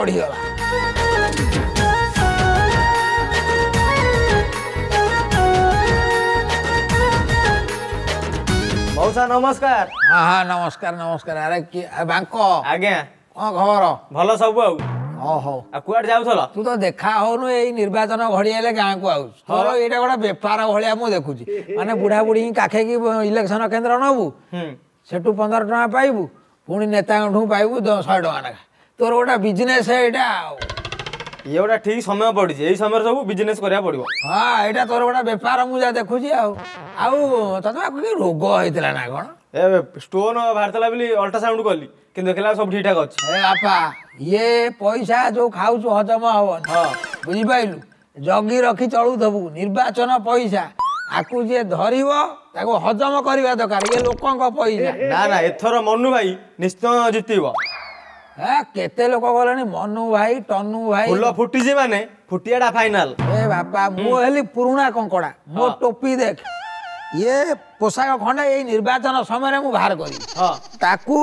ବଢ଼ିଗଲା। ମଉସା ନମସ୍କାର। ହଁ ହଁ, ନମସ୍କାର ନମସ୍କାର। ଆରେ କିଏ ବାଙ୍କ? ଆଜ୍ଞା। କଣ ଖବର? ଭଲ ସବୁ। ଆଉ ହଉ ହଉ, ଆଉ କୁଆଡେ ଯାଉଥିଲ? ତୁ ତ ଦେଖା ହଉନୁ, ଏଇ ନିର୍ବାଚନ ଘଡ଼ି ହେଲେ ଗାଁକୁ ଆଉଛୁ। ତୋର ଏଇଟା ଗୋଟେ ବେପାର ଭଳିଆ ମୁଁ ଦେଖୁଛି, ମାନେ ବୁଢା ବୁଢୀ କାଖେଇକି ଇଲେକ୍ସନ କେନ୍ଦ୍ର ନବୁ, ସେଠୁ 15 ଟଙ୍କା ପାଇବୁ, ପୁଣି ନେତାଙ୍କଠୁ ପାଇବୁ 100 ଟଙ୍କା ଲେଖା। ତୋର ଗୋଟେ ବିଜନେସ ଏଇଟା। ଆଉ ଇଏ ଗୋଟେ ଠିକ ସମୟ ପଡିଛି, ଏଇ ସମୟରେ ସବୁ ବିଜନେସ କରିବାକୁ ପଡିବ। ହଁ, ଏଇଟା ତୋର ଗୋଟେ ବେପାର ମୁଁ ଯାହା ଦେଖୁଛି। ଆଉ ଆଉ ତତେ କି ରୋଗ ହେଇଥିଲା ନା କଣ? ଏ ଷ୍ଟୋନ ବାହାରିଥିଲା ବୋଲି ଅଲ୍ଟ୍ରାସାଉଣ୍ଡ କଲି, କିନ୍ତୁ ଦେଖିଲା ସବୁ ଠିକ ଠାକ ଅଛି। ଏ ବାପା, ଇଏ ପଇସା ଯୋଉ ଖାଉଛୁ ହଜମ ହବନି। ହଁ, ବୁଝିପାରିଲୁ? ଜଗି ରଖି ଚଳୁଥିବୁ। ନିର୍ବାଚନ ପଇସା, ଆକୁ ଯିଏ ଧରିବ ତାକୁ ହଜମ କରିବା ଦରକାର। ଇଏ ଲୋକଙ୍କ ପଇସା। ନା ନା, ଏଥର ମନୁ ଭାଇ ନିଶ୍ଚୟ ଜିତିବ। ହେ, କେତେ ଲୋକ ଗଲେଣି ମନୁ ଭାଇ, ଟନୁ ଭାଇ। ଫୁଲ ଫୁଟିଛି ମାନେ ଫୁଟିଆଟା ଫାଇନାଲ। ଏ ବାପା, ମୁଁ ହେଲି ପୁରୁଣା କଙ୍କଡା। ମୋ ଟୋପି ଦେଖ, ଇଏ ପୋଷାକ ଖଣ୍ଡେ ଏଇ ନିର୍ବାଚନ ସମୟରେ ମୁଁ ବାହାର କରିବି। ତାକୁ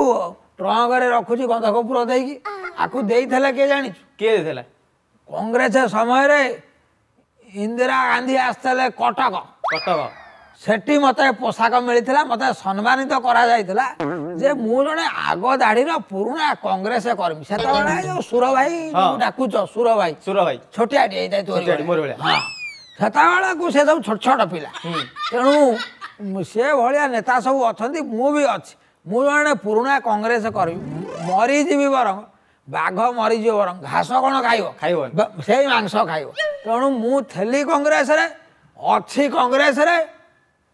ଟ୍ରଙ୍କରେ ରଖୁଛି ଗନ୍ଧ କର୍ପୂର ଦେଇକି। ଆକୁ ଦେଇଥିଲେ କିଏ ଜାଣିଛୁ? କିଏ ଦେଇଥିଲା? କଂଗ୍ରେସ ସମୟରେ ଇନ୍ଦିରା ଗାନ୍ଧୀ ଆସିଥିଲେ କଟକ। କଟକ, ସେଠି ମତେ ପୋଷାକ ମିଳିଥିଲା। ମତେ ସମ୍ମାନିତ କରାଯାଇଥିଲା ଯେ ମୁଁ ଜଣେ ଆଗ ଦାଢିର ପୁରୁଣା କଂଗ୍ରେସ କର୍ମୀ। ସେତେବେଳେ ଯୋଉ ସୁର ଭାଇ ଡାକୁଛ, ସୁର ଭାଇ, ସୁର ଭାଇ ଛୋଟିଆଟି ହେଇଥାଏ ତୋରି। ହଁ, ସେତେବେଳକୁ ସେ ସବୁ ଛୋଟ ଛୋଟ ପିଲା। ତେଣୁ ସେ ଭଳିଆ ନେତା ସବୁ ଅଛନ୍ତି, ମୁଁ ବି ଅଛି। ମୁଁ ଜଣେ ପୁରୁଣା କଂଗ୍ରେସ କର୍ମୀ, ମରିଯିବି ବରଂ, ବାଘ ମରିଯିବ ବରଂ ଘାସ କ'ଣ ଖାଇବ? ଖାଇବ, ସେଇ ମାଂସ ଖାଇବ। ତେଣୁ ମୁଁ ଥିଲି କଂଗ୍ରେସରେ, ଅଛି କଂଗ୍ରେସରେ,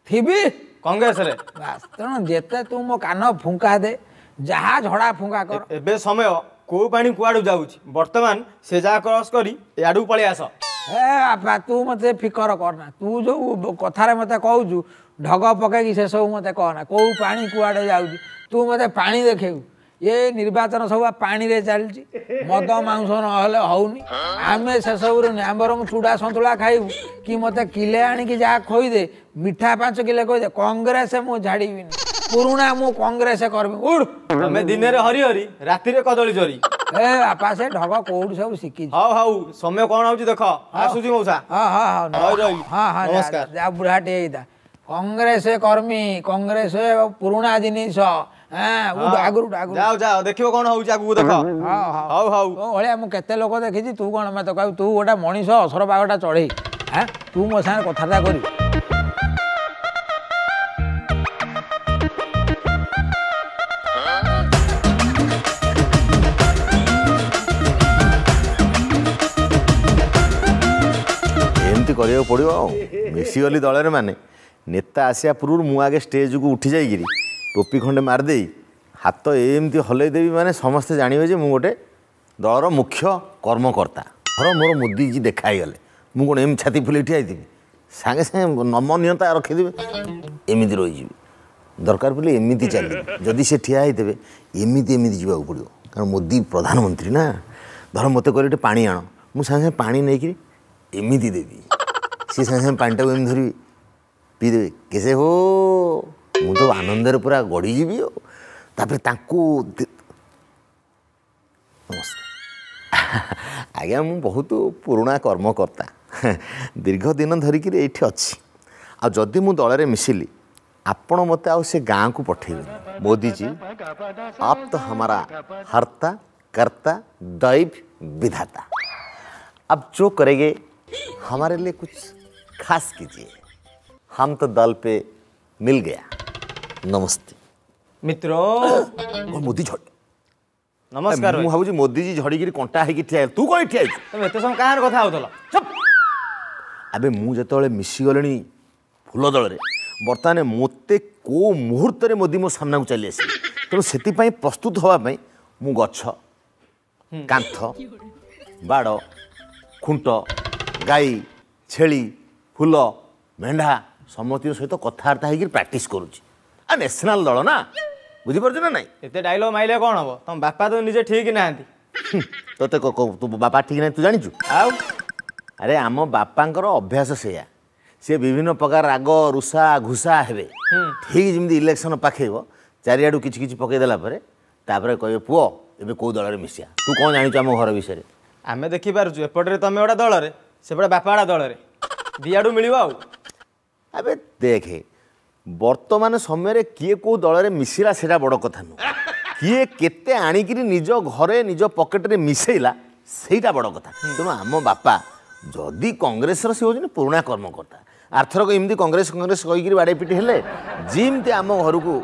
ଥିବି କଂଗ୍ରେସରେ, ବାସ୍। ତେଣୁ ଯେତେ ତୁ ମୋ କାନ ଫୁଙ୍କା ଦେ, ଯାହା ଝଡ଼ା ଫୁଙ୍କା କର। ଏବେ ସମୟ କୋଉ ପାଣି କୁଆଡୁ ଯାଉଛି, ବର୍ତ୍ତମାନ ସେ ଯାହା କ୍ରସ୍ କରି ଏଆଡକୁ ପଳେଇ ଆସ। ଏ ବାପା, ତୁ ମତେ ଫିକର କରନା। ତୁ ଯୋଉ କଥାରେ ମତେ କହୁଛୁ ଢଗ ପକେଇକି, ସେସବୁ ମତେ କହନା। କୋଉ ପାଣି କୁଆଡ଼େ ଯାଉଛି, ତୁ ମତେ ପାଣି ଦେଖେଇବୁ? ଏ ନିର୍ବାଚନ ସବୁ ପାଣିରେ ଚାଲିଛି। ମଦ ମାଂସ ନହେଲେ ହଉନି। ଆମେ ସେସବୁରୁ ଆମେ ବରଂ ଚୁଡ଼ା ସନ୍ତୁଳା ଖାଇବୁ କି ମତେ କିଲେ ଆଣିକି ଯାହା ଖୋଇଦେ, ମିଠା 5 କିଲୋ ଖୋଇଦେ, କଂଗ୍ରେସ ମୁଁ ଛାଡ଼ିବିନି। ପୁରୁଣା ମୁଁ କଂଗ୍ରେସ କରିବି। ଉଡ୍, ତମେ ଦିନରେ ହରି ହରି, ରାତିରେ କଦଳୀ ଚୋରି। ଏ ବାପା, ସେ ଢଗ କୋଉଠି ସବୁ ଶିଖିଛି? ହଉ ହଉ, ସମୟ କଣ ହଉଛି ଦେଖ। ଆସୁଛି ମଉସା। ହଁ ହଁ ହଁ, ହଁ ହଁ, ନମସ୍କାର। ଯା, ବୁଢାଟେ ହେଇଥା, କଂଗ୍ରେସ କର୍ମୀ, କଂଗ୍ରେସ ପୁରୁଣା ଜିନିଷ। ଆଗରୁ ଯାଅ ଯାଅ, ଦେଖିବ କଣ ହଉଛି ଆଗକୁ ଦେଖ। ହଉ ହଉ, ତୋ ଭଳିଆ ମୁଁ କେତେ ଲୋକ ଦେଖିଛି। ତୁ କଣ ମତେ କହିବୁ? ତୁ ଗୋଟେ ମଣିଷ ଅସର ପାଗଟା ଚଢେଇ, ତୁ ମୋ ସାଙ୍ଗରେ କଥାବାର୍ତ୍ତା କରିବୁ? ଏମିତି କରିବାକୁ ପଡ଼ିବ। ଆଉ ମିଶିଗଲି ଦଳରେ ମାନେ ନେତା ଆସିବା ପୂର୍ବରୁ ମୁଁ ଆଗେ ଷ୍ଟେଜକୁ ଉଠି ଯାଇକିରି ଟୋପି ଖଣ୍ଡେ ମାରିଦେଇ ହାତ ଏମିତି ହଲେଇ ଦେବି, ମାନେ ସମସ୍ତେ ଜାଣିବେ ଯେ ମୁଁ ଗୋଟେ ଦଳର ମୁଖ୍ୟ କର୍ମକର୍ତ୍ତା। ଧର ମୋର ମୋଦିଜୀ ଦେଖା ହେଇଗଲେ, ମୁଁ କ'ଣ ଏମିତି ଛାତି ଫୁଲେଇ ଠିଆ ହେଇଥିବି? ସାଙ୍ଗେ ସାଙ୍ଗେ ନମନୀୟତା ରଖିଦେବି, ଏମିତି ରହିଯିବି। ଦରକାର ପଡ଼ିଲେ ଏମିତି ଚାଲିବି। ଯଦି ସେ ଠିଆ ହେଇଥିବେ, ଏମିତି ଏମିତି ଯିବାକୁ ପଡ଼ିବ, କାରଣ ମୋଦି ପ୍ରଧାନମନ୍ତ୍ରୀ ନା। ଧର ମୋତେ କହିଲେ ଟିକେ ପାଣି ଆଣ, ମୁଁ ସାଙ୍ଗେ ସାଙ୍ଗେ ପାଣି ନେଇକିରି ଏମିତି ଦେବି। ସିଏ ସାଙ୍ଗେ ସାଙ୍ଗେ ପାଣିଟାକୁ ଏମିତି ଧରିବି ପିଇଦେବେ, କେସେ ହୋ, ମୁଁ ତ ଆନନ୍ଦରେ ପୁରା ଗଡ଼ିଯିବି। ଆଉ ତାପରେ ତାଙ୍କୁ ନମସ୍କାର ଆଜ୍ଞା, ମୁଁ ବହୁତ ପୁରୁଣା କର୍ମକର୍ତ୍ତା, ଦୀର୍ଘ ଦିନ ଧରିକିରି ଏଇଠି ଅଛି। ଆଉ ଯଦି ମୁଁ ଦଳରେ ମିଶିଲି, ଆପଣ ମୋତେ ଆଉ ସେ ଗାଁକୁ ପଠେଇବେନି। ମୋଦିଜୀ आप तो हमारा हर्ता कर्ता दैव विधाता, अब जो करेंगे हमारे लिए कुछ खास कीजिए, हम तो दल पे मिल गया, नमस्ते। ମିତ୍ର ମୋଦି ଝଡ଼ି ନମସ୍କାର। ମୁଁ ଭାବୁଛି ମୋଦିଜୀ ଝଡ଼ିକିରି କଣ୍ଟା ହେଇକି ଠିଆ। ତୁ କ'ଣ ଠିଆ ହେଇଛୁ? ତମେ ଏତେ ସମୟ କାହାର କଥା ହଉଥିଲ? ଆବେ ମୁଁ ଯେତେବେଳେ ମିଶିଗଲିଣି ଫୁଲ ଦଳରେ, ବର୍ତ୍ତମାନ ମୋତେ କେଉଁ ମୁହୂର୍ତ୍ତରେ ମୋଦି ମୋ ସାମ୍ନାକୁ ଚାଲି ଆସିବେ। ତେଣୁ ସେଥିପାଇଁ ପ୍ରସ୍ତୁତ ହେବା ପାଇଁ ମୁଁ ଗଛ, କାନ୍ଥ, ବାଡ଼, ଖୁଣ୍ଟ, ଗାଈ, ଛେଳି, ଫୁଲ, ମେଣ୍ଢା ସମସ୍ତଙ୍କ ସହିତ କଥାବାର୍ତ୍ତା ହେଇକିରି ପ୍ରାକ୍ଟିସ୍ କରୁଛି। ଆଉ ନ୍ୟାସନାଲ୍ ଦଳ ନା, ବୁଝିପାରୁଛୁ ନା ନାଇଁ? ଏତେ ଡାଇଲଗ ମାଇଲେ କ'ଣ ହବ, ତମ ବାପା ତ ନିଜେ ଠିକ ନାହାନ୍ତି। ତୋତେ ତୋ ବାପା ଠିକ ନାହିଁ ତୁ ଜାଣିଛୁ? ଆଉ ଆରେ ଆମ ବାପାଙ୍କର ଅଭ୍ୟାସ ସେଇଆ, ସେ ବିଭିନ୍ନ ପ୍ରକାର ରାଗ ରୁଷା ଘୁଷା ହେବେ। ଠିକ୍ ଯେମିତି ଇଲେକ୍ସନ ପାଖେଇବ, ଚାରିଆଡ଼ୁ କିଛି କିଛି ପକେଇଦେଲା ପରେ ତାପରେ କହିବେ, ପୁଅ ଏବେ କେଉଁ ଦଳରେ ମିଶିବା? ତୁ କ'ଣ ଜାଣିଛୁ ଆମ ଘର ବିଷୟରେ? ଆମେ ଦେଖିପାରୁଛୁ ଏପଟରେ ତମେ ଗୋଟେ ଦଳରେ, ସେପଟେ ବାପା ଗୋଟେ ଦଳରେ, ଦିଆଡ଼ୁ ମିଳିବ ଆଉ। ଆବେ ଦେଖେ, ବର୍ତ୍ତମାନ ସମୟରେ କିଏ କେଉଁ ଦଳରେ ମିଶିଲା ସେଇଟା ବଡ଼ କଥା ନୁହଁ, କିଏ କେତେ ଆଣିକିରି ନିଜ ଘରେ ନିଜ ପକେଟରେ ମିଶେଇଲା ସେଇଟା ବଡ଼ କଥା। ତେଣୁ ଆମ ବାପା ଯଦି କଂଗ୍ରେସର, ସେ ହେଉଛନ୍ତି ପୁରୁଣା କର୍ମକର୍ତ୍ତା, ଆରଥରକ ଏମିତି କଂଗ୍ରେସ କଂଗ୍ରେସ କହିକିରି ବାଡ଼େଇ ପିଟି ହେଲେ, ଯେମିତି ଆମ ଘରକୁ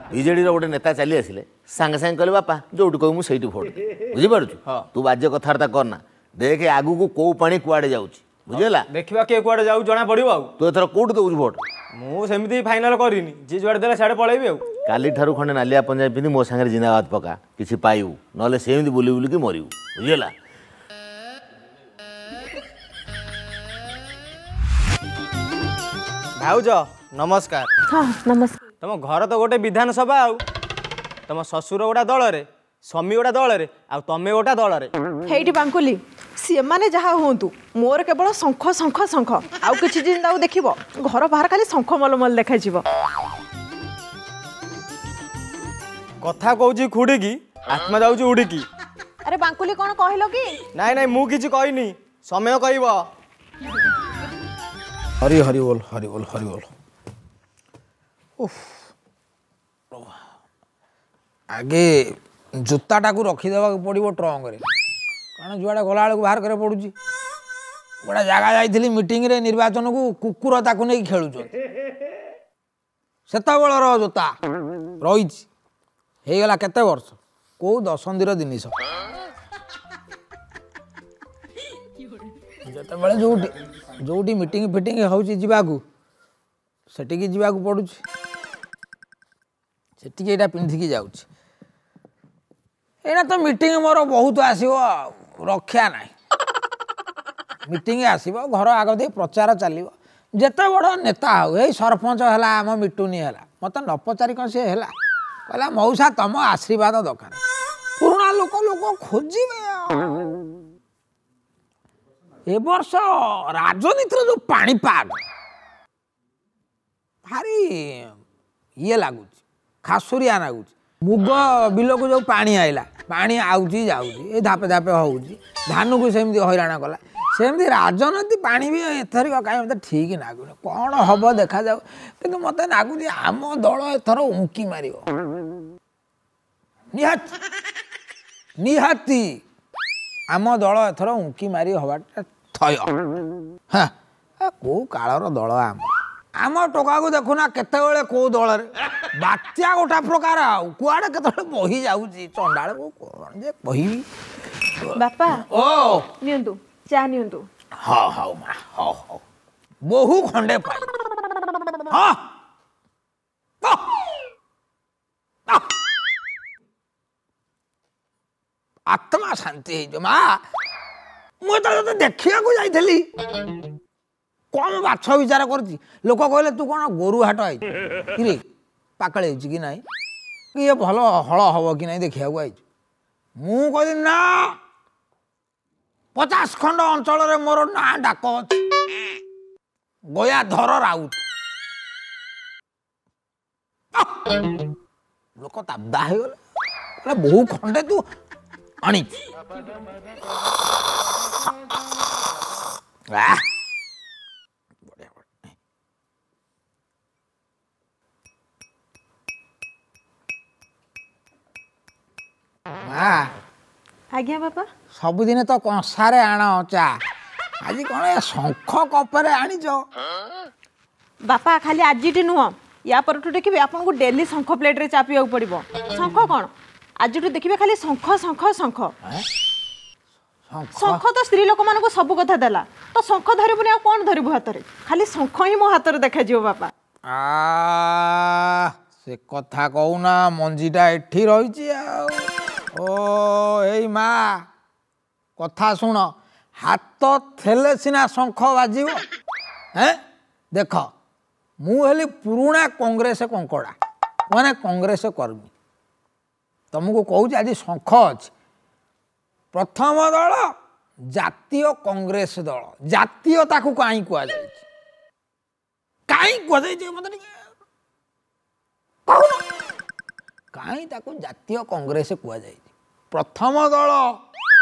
ବିଜେଡ଼ିର ଗୋଟେ ନେତା ଚାଲି ଆସିଲେ, ସାଙ୍ଗେ ସାଙ୍ଗେ କହିଲେ ବାପା ଯୋଉଠି କହିବୁ ମୁଁ ସେଇଠି ଭୋଟ ଦେବି। ବୁଝିପାରୁଛୁ? ତୁ ବାଜ୍ୟ କଥାବାର୍ତ୍ତା କରନା, ଦେଖେ ଆଗକୁ କୋଉ ପାଣି କୁଆଡ଼େ ଯାଉଛି, ବୁଝିହେଲା? ଦେଖିବା କିଏ କୁଆଡ଼େ ଯାଉଛି ଜଣା ପଡ଼ିବ। ଆଉ ତୁ ଏଥର କୋଉଠି ଦେଉଛୁ ଭୋଟ? ମୁଁ ସେମିତି ଫାଇନାଲ କରିନି, ଯିଏ ଯୁଆଡ଼େ ଦେଲେ ସିଆଡ଼େ ପଳେଇବି। ଆଉ କାଲିଠାରୁ ଖଣ୍ଡେ ନାଲିଆ ପଞ୍ଜାବୀ ପିନ୍ଧି ମୋ ସାଙ୍ଗରେ ଜିନ୍ଦାବାଦ ପକା, କିଛି ପାଇବୁ, ନହେଲେ ସେମିତି ବୁଲି ବୁଲିକି ମରିବୁ, ବୁଝିହେଲା? ଭାଉଜ ନମସ୍କାର। ହଁ ନମସ୍କାର। ତମ ଘର ତ ଗୋଟେ ବିଧାନସଭା, ଆଉ ତମ ଶ୍ୱଶୁର ଗୋଟା ଦଳରେ, ସ୍ୱାମୀ ଗୋଟା ଦଳରେ, ଆଉ ତମେ ଗୋଟା ଦଳରେ। ହେଇଠି ବାଙ୍କୁଲି, ସେମାନେ ଯାହା ହୁଅନ୍ତୁ ମୋର କେବଳ ଶଙ୍ଖ ଶଙ୍ଖ ଶଙ୍ଖ, ଆଉ କିଛି ଦିନ ତାକୁ ଦେଖିବ ଘର ବାହାର ଖାଲି ଶଙ୍ଖ ମଲମଲ ଦେଖାଯିବ। କଥା କହୁଛି ଖୁଡ଼ିକି, ଆତ୍ମା ଯାଉଛି ଉଡ଼ିକି। ଆରେ ବାଙ୍କୁଲି କ'ଣ କହିଲ କି? ନାଇଁ ନାଇଁ ମୁଁ କିଛି କହିନି, ସମୟ କହିବ। ହରି ହରି ବୋଲ, ହରି ବୋଲ, ହରି ବୋଲ। ଉଫ୍, ଆଗେ ଜୋତାଟାକୁ ରଖିଦେବାକୁ ପଡ଼ିବ ଟ୍ରଙ୍କରେ, କାରଣ ଯୁଆଡ଼େ ଗଲାବେଳକୁ ବାହାର କରିବାକୁ ପଡ଼ୁଛି। ଗୋଟେ ଜାଗା ଯାଇଥିଲି ମିଟିଂରେ ନିର୍ବାଚନକୁ, କୁକୁର ତାକୁ ନେଇକି ଖେଳୁଛନ୍ତି। ସେତେବେଳର ଜୋତା ରହିଛି, ହେଇଗଲା କେତେ ବର୍ଷ, କେଉଁ ଦଶନ୍ଧିର ଜିନିଷ। ଯେତେବେଳେ ଯୋଉଠି ଯୋଉଠି ମିଟିଂ ଫିଟିଂ ହେଉଛି ଯିବାକୁ, ସେଠିକି ଯିବାକୁ ପଡ଼ୁଛି, ସେଠିକି ଏଇଟା ପିନ୍ଧିକି ଯାଉଛି। ଏଇନା ତ ମିଟିଂ ମୋର ବହୁତ ଆସିବ, ରକ୍ଷା ନାହିଁ। ମିଟିଂ ଆସିବ, ଘର ଆଗ ଦେଇ ପ୍ରଚାର ଚାଲିବ। ଯେତେ ବଡ଼ ନେତା ହଉ, ଏଇ ସରପଞ୍ଚ ହେଲା ଆମ ମିଟୁନି ହେଲା, ମୋତେ ନ ପଚାରି କ'ଣ ସିଏ ହେଲା? କହିଲା ମଉସା ତମ ଆଶୀର୍ବାଦ ଦରକାର। ପୁରୁଣା ଲୋକ ଲୋକ ଖୋଜିବେ। ଏ ବର୍ଷ ରାଜନୀତିର ଯେଉଁ ପାଣିପାଗ ଭାରି ଇଏ ଲାଗୁଛି, ଖାସୁରିଆ ଲାଗୁଛି। ମୁଗ ବିଲକୁ ଯେଉଁ ପାଣି ଆଇଲା, ପାଣି ଆଉଛି ଯାଉଛି, ଏ ଧାପେ ଧାପେ ହେଉଛି, ଧାନକୁ ସେମିତି ହଇରାଣ କଲା, ସେମିତି ରାଜନୀତି ପାଣି ବି ଏଥରିକ କାହିଁ ମୋତେ ଠିକ୍ ଲାଗୁନି। କ'ଣ ହବ ଦେଖାଯାଉ, କିନ୍ତୁ ମୋତେ ଲାଗୁଛି ଆମ ଦଳ ଏଥର ଉଙ୍କି ମାରିବ ନିହାତି, ନିହାତି ଆମ ଦଳ ଏଥର ଉଙ୍କି ମାରି ହବାଟା ଥୟ। ହଁ, କେଉଁ କାଳର ଦଳ ଆମ ଆମ ଟୋକାକୁ ଦେଖୁନା କେତେବେଳେ କେଉଁ ଦଳରେ ବାତ୍ୟା ଗୋଟା ପ୍ରକାର, ଆଉ କୁଆଡ଼େ କେତେବେଳେ ବହି ଯାଉଛି ଚଣ୍ଡାଳକୁ, କ'ଣ ଯେ କହିବି। ବାପା ଓ ନିଅନ୍ତୁ ଚା ନିଅନ୍ତୁ। ହଁ ହଉ ମା, ହଉ ହଉ, ବହୁ ଖଣ୍ଡେ ପାଇ। ହଁ, ଆତ୍ମା ଶାନ୍ତି ହେଇଯିବ ମା। ମୁଁ ତ ତତେ ଦେଖିବାକୁ ଯାଇଥିଲି, କମ ବାଛ ବିଚାର କରୁଛି। ଲୋକ କହିଲେ ତୁ କ'ଣ ଗୋରୁ ହାଟ ଆଇଛୁ କିରେ, ପାକଳ ହେଇଛି କି ନାହିଁ, କି ଇଏ ଭଲ ହଳ ହବ କି ନାହିଁ ଦେଖିବାକୁ ଆଇଛୁ। ମୁଁ କହିଲି ନା, 50 ଖଣ୍ଡ ଅଞ୍ଚଳରେ ମୋର ନାଁ ଡାକ ଅଛି, ଗୟାଧର ରାଉତ। ଲୋକ ତାବଦା ହେଇଗଲେ, କହିଲେ ବହୁ ଖଣ୍ଡେ ତୁ ଆଣିଛୁ। ବଢ଼ିଆ ବଢ଼ିଆ। ମା। ଆଜ୍ଞା ବାପା। ସବୁଦିନ ତ କଂସାରେ ଆଣ ଚା, ଆଜି କ'ଣ ଏ ଶଙ୍ଖ କପରେ ଆଣିଛ? ବାପା ଖାଲି ଆଜିଟି ନୁହଁ, ୟା ପରଠୁ ଦେଖିବେ ଆପଣଙ୍କୁ ଡେଲି ଶଙ୍ଖ ପ୍ଲେଟ୍ରେ ଚା ପିଇବାକୁ ପଡ଼ିବ। ଶଙ୍ଖ କ'ଣ, ଆଜିଠୁ ଦେଖିବେ ଖାଲି ଶଙ୍ଖ ଶଙ୍ଖ ଶଙ୍ଖ ଶଙ୍ଖ। ତ ସ୍ତ୍ରୀ ଲୋକମାନଙ୍କୁ ସବୁ କଥା ଦେଲା, ତ ଶଙ୍ଖ ଧରିବୁନି ଆଉ କ'ଣ ଧରିବୁ ହାତରେ? ଖାଲି ଶଙ୍ଖ ହିଁ ମୋ ହାତରେ ଦେଖାଯିବ ବାପା। ସେ କଥା କହୁନା, ମଞ୍ଜିଟା ଏଠି ରହିଛି ଆଉ। ଓ ଏଇ ମା, କଥା ଶୁଣ, ହାତ ଥିଲେ ସିନା ଶଙ୍ଖ ବାଜିବ। ହେଁ ଦେଖ, ମୁଁ ହେଲି ପୁରୁଣା କଂଗ୍ରେସ କଙ୍କଡ଼ା, ମାନେ କଂଗ୍ରେସ କର୍ମୀ। ତମକୁ କହୁଛି ଆଜି ଶଙ୍ଖ ଅଛି। ପ୍ରଥମ ଦଳ ଜାତୀୟ କଂଗ୍ରେସ ଦଳ। ଜାତୀୟ ତାକୁ କାହିଁ କୁହାଯାଇଛି, କାହିଁ କୁହାଯାଇଛି ମତେ ଟିକେ କହୁନ, କାହିଁ ତାକୁ ଜାତୀୟ କଂଗ୍ରେସ କୁହାଯାଇଛି? ପ୍ରଥମ ଦଳ।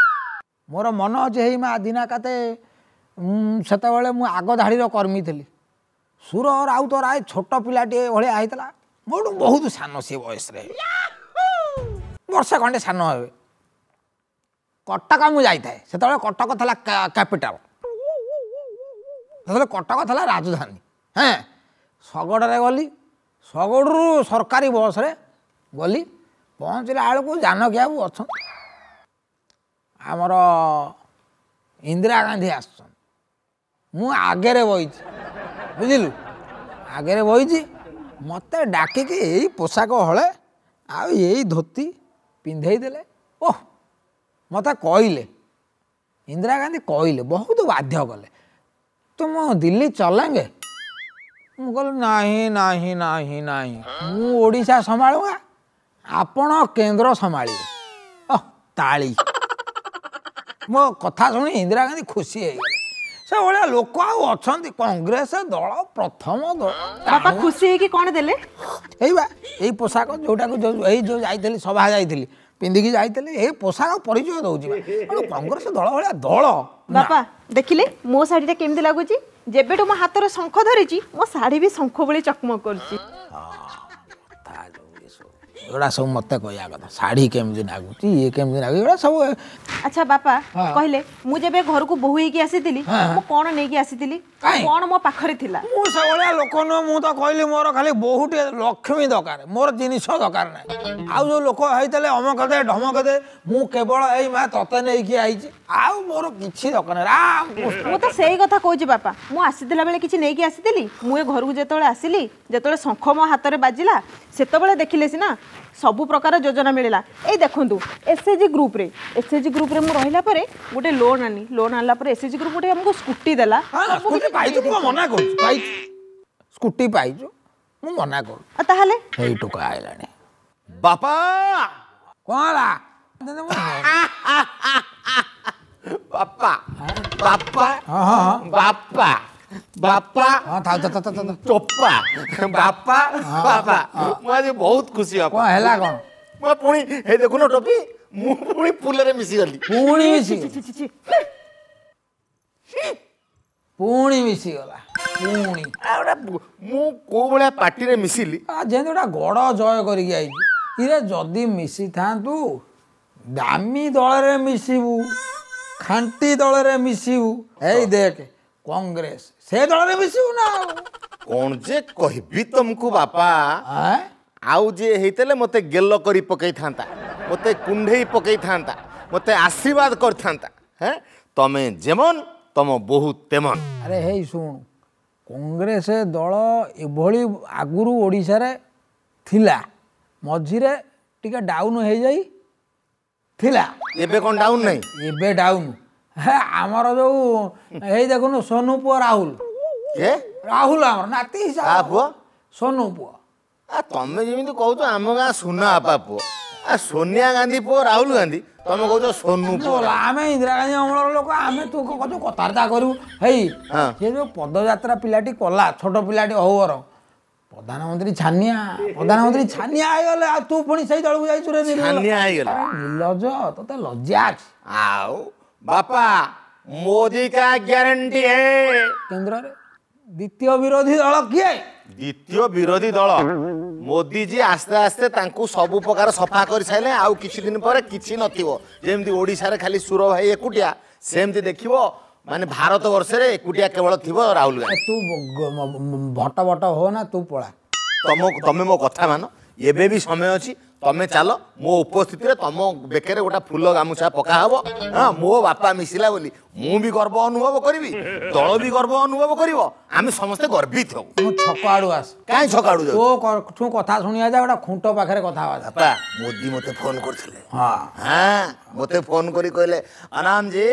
ମୋର ମନ ଅଛି ହେଇ ମା ଦିନା କାତେ, ସେତେବେଳେ ମୁଁ ଆଗ ଧାଡ଼ିର କର୍ମୀ ଥିଲି। ସୁର ରାଉତ ରାୟ ଛୋଟ ପିଲାଟିଏ ଭଳିଆ ହେଇଥିଲା, ମୋଠୁ ବହୁତ ସାନ ସିଏ ବୟସରେ, ବର୍ଷେ ଖଣ୍ଡେ ସାନ ହେବେ। କଟକ ମୁଁ ଯାଇଥାଏ, ସେତେବେଳେ କଟକ ଥିଲା କ୍ୟାପିଟାଲ, ସେତେବେଳେ କଟକ ଥିଲା ରାଜଧାନୀ। ହେଁ, ଶଗଡ଼ରେ ଗଲି, ଶଗଡ଼ରୁ ସରକାରୀ ବସ୍ରେ ଗଲି। ପହଞ୍ଚିଲା ବେଳକୁ ଜାନକୀ ବାବୁ ଅଛନ୍ତି, ଆମର ଇନ୍ଦିରା ଗାନ୍ଧୀ ଆସୁଛନ୍ତି। ମୁଁ ଆଗରେ ବଇଛି, ବୁଝିଲୁ, ଆଗରେ ବଇଛି। ମୋତେ ଡାକିକି ଏଇ ପୋଷାକ ହଳେ ଆଉ ଏଇ ଧୋତି ପିନ୍ଧେଇ ଦେଲେ। ଓହ, ମୋତେ କହିଲେ, ଇନ୍ଦିରା ଗାନ୍ଧୀ କହିଲେ, ବହୁତ ବାଧ୍ୟ କଲେ, ତୁମ ଦିଲ୍ଲୀ ଚଲେଙ୍ଗେ? ମୁଁ କହିଲି ନାହିଁ ନାହିଁ ନାହିଁ ନାହିଁ, ମୁଁ ଓଡ଼ିଶା ସମ୍ଭାଳୁଙ୍ଗା, ଆପଣ କେନ୍ଦ୍ର ସମ୍ଭାଳିବେ। ଓହ ତାଳି। ମୋ କଥା ଶୁଣି ଇନ୍ଦିରା ଗାନ୍ଧୀ ଖୁସି ହେଇଗଲେ। ସେ ଭଳିଆ ଲୋକ ଆଉ ଅଛନ୍ତି? କଂଗ୍ରେସ ଦଳ ପ୍ରଥମ ଦଳ। ବାପା ଖୁସି ହେଇକି କ'ଣ ଦେଲେ? ଏଇ ବା ଏଇ ପୋଷାକ, ଯୋଉଟାକୁ ଏଇ ଯୋଉ ଯାଇଥିଲି ସଭା ଯାଇଥିଲି ପିନ୍ଧିକି ଯାଇଥିଲି, ଏଇ ପୋଷାକ ପରିଚୟ ଦଉଛି କଂଗ୍ରେସ ଦଳ ଭଳିଆ ଦଳ। ବାପା ଦେଖିଲେ ମୋ ଶାଢ଼ୀଟା କେମିତି ଲାଗୁଛି? ଯେବେଠୁ ମୋ ହାତରେ ଶଙ୍ଖ ଧରିଛି, ମୋ ଶାଢ଼ୀ ବି ଶଙ୍ଖ ଭଳି ଚକମକ କରୁଛି। ଏଗୁଡ଼ା ସବୁ ମୋତେ କହିବା କଥା, ଶାଢ଼ୀ କେମିତି ନାଗୁଛି, ଇଏ କେମିତି ନାଗୁଛି, ଏଗୁଡ଼ା ସବୁ। ଆଚ୍ଛା ବାପା କହିଲେ, ମୁଁ ଯେବେ ଘରକୁ ବୋହୂ ହେଇକି ଆସିଥିଲି, ମୁଁ କ'ଣ ନେଇକି ଆସିଥିଲି, କ'ଣ ମୋ ପାଖରେ ଥିଲା? ମୁଁ ସେଭଳିଆ ଲୋକ ନୁହଁ। ମୁଁ ତ କହିଲି ମୋର ଖାଲି ବୋହୂଟିଏ ଲକ୍ଷ୍ମୀ ଦରକାର, ମୋର ଜିନିଷ ଦରକାର ନାହିଁ। ଆଉ ଯୋଉ ଲୋକ ହେଇଥିଲେ ଅମକ ଦେ ଢମକ ଦେ, ମୁଁ କେବଳ ଏଇ ମା ତତେ ନେଇକି ଆଇଛି, ଆଉ ମୋର କିଛି ଦରକାର ନାହିଁ। ରାମ। ମୁଁ ତ ସେଇ କଥା କହୁଛି ବାପା, ମୁଁ ଆସିଥିଲା ବେଳେ କିଛି ନେଇକି ଆସିଥିଲି? ମୁଁ ଏ ଘରକୁ ଯେତେବେଳେ ଆସିଲି, ଯେତେବେଳେ ଶଙ୍ଖ ମୋ ହାତରେ ବାଜିଲା, ସେତେବେଳେ ଦେଖିଲେ ସିନା ସବୁ ପ୍ରକାର ଯୋଜନା ମିଳିଲା। ଏଇ ଦେଖନ୍ତୁ, ଏସ୍ ଏଚ୍ ଜି ଗ୍ରୁପ୍ରେ, ଏସ୍ ଏଚ୍ ଜି ଗ୍ରୁପ୍ରେ ମୁଁ ରହିଲା ପରେ ଗୋଟେ ଲୋନ୍ ଆଣି, ଲୋନ୍ ଆଣିଲା ପରେ ଏସ୍ ଏଚ୍ ଜି ଗ୍ରୁପ୍ ଗୋଟେ ଆମକୁ ସ୍କୁଟି ଦେଲା। ସ୍କୁଟି ପାଇଛୁ, ମୁଁ ମନା କରୁଛି? ପାଇଛୁ, ସ୍କୁଟି ପାଇଛୁ, ମୁଁ ମନା କରୁଛି? ଆଉ ତାହେଲେ ଏଇ ଟୋକା ଆଇଲାଣି। ବାପା, କ'ଣ ହେଲା? ବାପା ବାପା ବାପା ବାପା, ହଁ ଥାଉ ଥାଉ ଥାଉ, ଚୋପା। ବାପା ବାପା, ମୁଁ ଆଜି ବହୁତ ଖୁସି। ବାପା, କ'ଣ ହେଲା? କ'ଣ ମୁଁ ପୁଣି ହେଇ ଦେଖୁନ ଟୋପି, ମୁଁ ପୁଣି ଫୁଲରେ ମିଶିଗଲି। ପୁଣି ମିଶି, ପୁଣି ମିଶିଗଲା ପୁଣି। ମୁଁ କୋଉ ଭଳିଆ ପାର୍ଟିରେ ମିଶିଲି? ଯେମିତି ଗୋଟେ ଗଡ଼ ଜୟ କରିକି ଆଇଛି। ଇରେ ଯଦି ମିଶିଥାନ୍ତୁ ଦାମୀ ଦଳରେ ମିଶିବୁ, ଖାଣ୍ଟି ଦଳରେ ମିଶିବୁ। ଏଇ ଦେଖ କଂଗ୍ରେସ, ସେ ଦଳରେ ମିଶିବୁ ନା ଆଉ କ'ଣ ଯେ କହିବି ତମକୁ ବାପା। ଆଉ ଯିଏ ହେଇଥିଲେ ମୋତେ ଗେଲ କରି ପକେଇଥାନ୍ତା, ମୋତେ କୁଣ୍ଢେଇ ପକେଇଥାନ୍ତା, ମୋତେ ଆଶୀର୍ବାଦ କରିଥାନ୍ତା। ହେଁ, ତମେ ଯେମନ ତମ ବୋହୁ ତେମନ। ଆରେ ହେଇ ଶୁଣୁ, କଂଗ୍ରେସ ଦଳ ଏଭଳି ଆଗରୁ ଓଡ଼ିଶାରେ ଥିଲା, ମଝିରେ ଟିକେ ଡାଉନ୍ ହେଇଯାଇ ଥିଲା। ଏବେ କ'ଣ ଡାଉନ୍ ନାହିଁ? ଏବେ ଡାଉନ୍। ହେ ଆମର ଯୋଉ ଏଇ ଦେଖୁନୁ ସୋନୁ ପୁଅ ରାହୁଲ, ଏ ରାହୁଲ ଆମର ନାତି ହିସାବ ପୁଅ, ସୋନୁ ପୁଅ। ଆ ତମେ ଯେମିତି କହୁଛ ଆମ ଗାଁ ସୁନା ବାପା ପୁଅ, ଆ ସୋନିଆ ଗାନ୍ଧୀ ପୁଅ ରାହୁଲ ଗାନ୍ଧୀ, ତମେ କହୁଛ ସୋନୁ ପୁଅ। ଆମେ ଇନ୍ଦିରା ଗାନ୍ଧୀ ଅମଳର ଲୋକ, ଆମେ ତୁ କହୁଛୁ କଥାବାର୍ତ୍ତା କରିବୁ? ହେଇ ସେ ଯୋଉ ପଦଯାତ୍ରା ପିଲାଟି କଲା, ଛୋଟ ପିଲାଟି ହଉ ବରଂ, ପ୍ରଧାନମନ୍ତ୍ରୀ ଛାନିଆ, ପ୍ରଧାନମନ୍ତ୍ରୀ ଛାନିଆ ହେଇଗଲେ। ଆଉ ତୁ ପୁଣି ସେଇ ଦଳକୁ ଯାଇଛୁ ରେ? ଛାନିଆ ହେଇଗଲେ। ନିର୍ଲଜ, ତତେ ଲଜ୍ଜା ଅଛି? ଆଉ ବାପା, ମୋଦି କା ଗ୍ୟାରେଣ୍ଟି ହେ। କେନ୍ଦ୍ରରେ ଦ୍ୱିତୀୟ ବିରୋଧୀ ଦଳ କିଏ? ଦ୍ୱିତୀୟ ବିରୋଧୀ ଦଳ ମୋଦିଜୀ ଆସ୍ତେ ଆସ୍ତେ ତାଙ୍କୁ ସବୁ ପ୍ରକାର ସଫା କରିସାରିଲେ, ଆଉ କିଛି ଦିନ ପରେ କିଛି ନଥିବ। ଯେମିତି ଓଡ଼ିଶାରେ ଖାଲି ସୁର ଭାଇ ଏକୁଟିଆ, ସେମିତି ଦେଖିବ ମାନେ ଭାରତ ବର୍ଷରେ ଏକୁଟିଆ କେବଳ ଥିବ ରାହୁଲ ଗାନ୍ଧୀ। ତୁ ଭଟ ଭଟ ହୋ ନା, ତୁ ପଳା। ତମେ ମୋ କଥା ମାନ, ଏବେ ବି ସମୟ ଅଛି, ତମେ ଚାଲ। ମୋ ଉପସ୍ଥିତିରେ ତମ ବେକରେ ଗୋଟେ ଫୁଲ ଗାମୁଛା ପକା ହବ। ହଁ, ମୋ ବାପା ମିଶିଲା ବୋଲି ମୁଁ ବି ଗର୍ବ ଅନୁଭବ କରିବି, ଦଳ ବି ଗର୍ବ ଅନୁଭବ କରିବ, ଆମେ ସମସ୍ତେ ଗର୍ବିତ ହବୁ। ମୁଁ ଛକ ଆଡୁ ଆସ। କାହିଁ ଛକ ଆଡୁ? ତୋ କଥା ଶୁଣିବା ଯା, ଗୋଟେ ଖୁଣ୍ଟ ପାଖରେ କଥା ହବା। ବାପା, ମୋଦି ମୋତେ ଫୋନ କରିଥିଲେ। ହଁ, ମୋତେ ଫୋନ କରି କହିଲେ, अनाम जी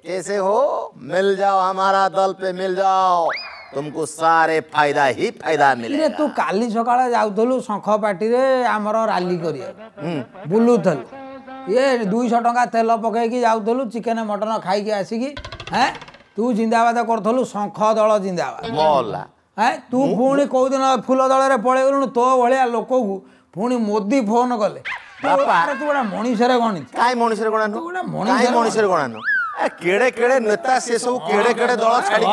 कैसे हो, मिल जाओ हमारा दल पे, मिल जाओ, तुमको सारे फायदा ही फायदा मिले। ତୁ କାଲି ସକାଳେ ଯାଉଥିଲୁ ଶଙ୍ଖ ପାର୍ଟିରେ ଆମର ରାଲି କରିବାକୁ, ବୁଲୁଥିଲୁ, ଇଏ 200 ଟଙ୍କା ତେଲ ପକେଇକି ଯାଉଥିଲୁ, ଚିକେନ ମଟନ ଖାଇକି ଆସିକି ହେଁ ତୁ ଜିନ୍ଦାବାଦ କରୁଥିଲୁ, ଶଙ୍ଖ ଦଳ ଜିନ୍ଦାବାଦ। ମଲା ହେଁ, ତୁ ପୁଣି କୋଉଦିନ ଫୁଲ ଦଳରେ ପଳେଇଗଲୁଣୁ। ତୋ ଭଳିଆ ଲୋକକୁ ପୁଣି ମୋଦି ଫୋନ କଲେ। ବାପା, ତୁ ଗୋଟେ ମଣିଷରେ ଗଣିଛୁ। କାଇଁ ମଣିଷରେ ଗଣା ନୁହଁ? କାଇଁ ମଣିଷରେ ଗଣା ନୁହଁ? କେଡ଼େ କେଡ଼େ ନେତା ସେ ସବୁ, କେଡ଼େ କେଡ଼େ ଦଳ ଛାଡ଼ି।